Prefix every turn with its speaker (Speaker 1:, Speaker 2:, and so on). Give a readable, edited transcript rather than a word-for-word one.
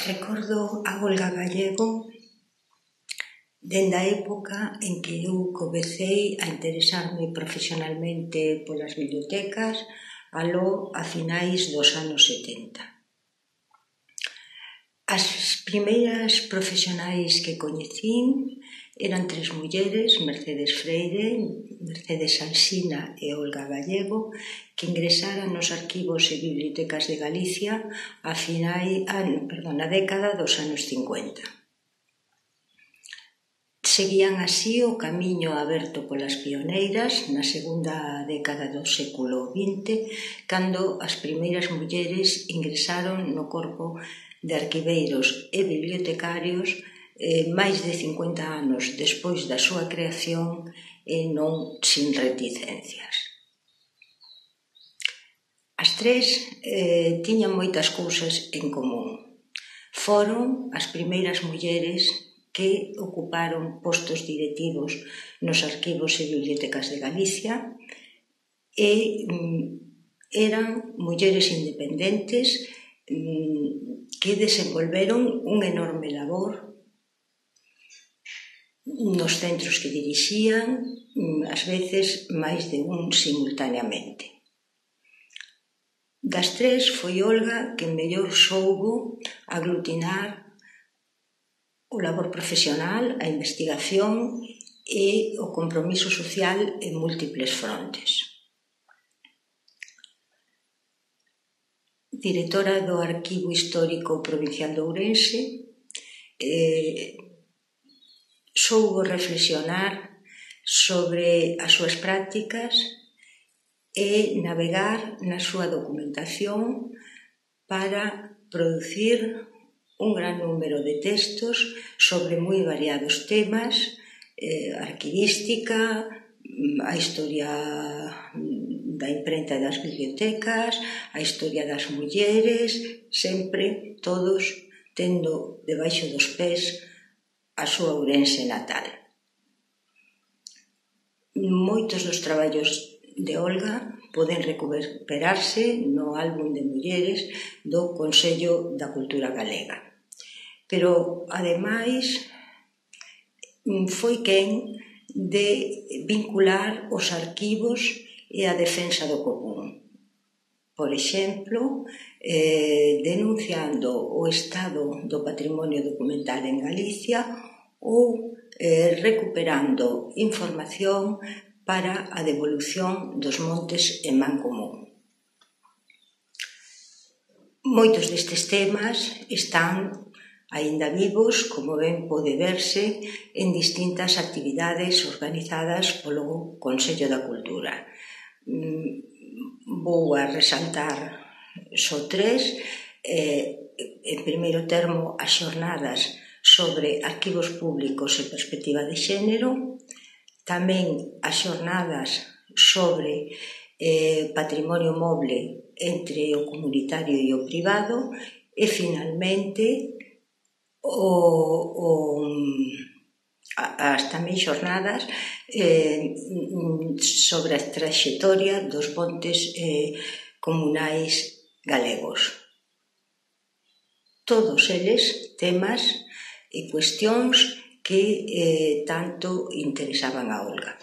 Speaker 1: Recordo a Olga Gallego dende a época en que eu comecei a interesarme profesionalmente polas bibliotecas aló a finais dos anos 70. As primeiras profesionais que coñecín eran tres mulleres, Mercedes Freire, Mercedes Alsina e Olga Gallego, que ingresaran nos arquivos e bibliotecas de Galicia na década dos anos 50. Seguían así o camiño aberto polas pioneiras na segunda década do século XX, cando as primeiras mulleres ingresaron no corpo de arquiveiros e bibliotecarios máis de 50 anos despois da súa creación e non sin reticencias. As tres tiñan moitas cousas en común. Foron as primeiras mulleres que ocuparon postos directivos nos arquivos e bibliotecas de Galicia e eran mulleres independentes que desenvolveron un enorme labor nos centros que dirixían, ás veces máis de un simultaneamente. Das tres foi Olga que mellor soubo aglutinar o labor profesional, a investigación e o compromiso social en múltiples frontes. Directora do Arquivo Histórico Provincial de Ourense, soubo reflexionar sobre as súas prácticas e navegar na súa documentación para producir un gran número de textos sobre moi variados temas, arquivística, a historia da imprenta das bibliotecas, a historia das mulleres, sempre todos tendo debaixo dos pés a súa Ourense natal. Moitos dos traballos de Olga poden recuperarse no álbum de mulleres do Consello da Cultura Galega. Pero, ademais, foi quen de vincular os arquivos e a defensa do común. Por exemplo, denunciando o estado do patrimonio documental en Galicia ou recuperando información para a devolución dos montes en man común. Moitos destes temas están aínda vivos, como ben pode verse, en distintas actividades organizadas polo Consello da Cultura. Vou a resaltar só tres. En primeiro termo, as xornadas sobre arquivos públicos e perspectiva de xénero, tamén as xornadas sobre patrimonio moble entre o comunitario e o privado e, finalmente, as tamén xornadas sobre a traxectoria dos montes comunais galegos. Todos eles temas e cuestións que tanto interesaban a Olga.